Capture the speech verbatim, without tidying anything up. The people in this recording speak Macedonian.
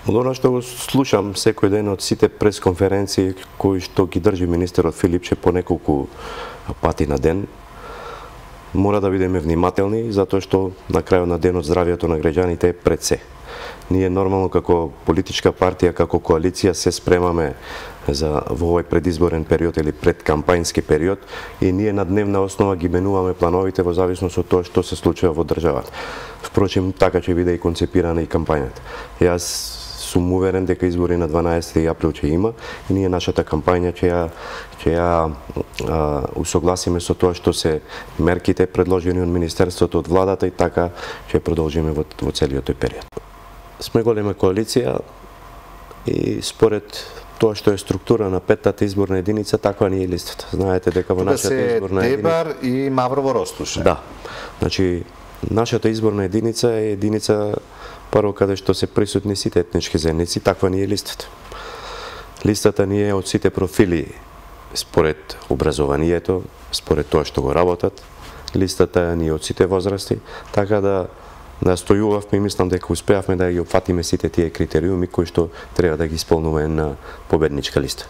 Од она што го слушам секој ден од сите пресконференции кои што ги држи министерот Филипче по неколку пати на ден, мора да бидеме внимателни, затоа што на крајот на денот здравието на граѓаните е пред се. Ние нормално како политичка партија, како коалиција се спремаме за во овој предизборен период или предкампањски период и ние на дневна основа ги менуваме плановите во зависност од тоа што се случува во државата. Впрочем, така ќе биде и концепирана и кампањата. Јас сум уверен дека избори на дванаесети април ќе има и ние нашата кампања ќе ја ќе ја а, усогласиме со тоа што се мерките предложени од министерството, од владата и така ќе продолжиме во, во целиот тој период. Сме голема коалиција и според тоа што е структура на петтата изборна единица, таква ни е листата. Знаете дека во нашата изборна единица Дебар и Маврово Ростуше. Да. Значи нашата изборна единица е единица прво каде што се присутни сите етнички заедници, таква ни е листата. Листата ни е од сите профили според образованието, според тоа што го работат. Листата ни е од сите возрасти, така да настојувавме и мислам дека успеавме да ги опфатиме сите тие критериуми кои што треба да ги исполнува една победничка листа.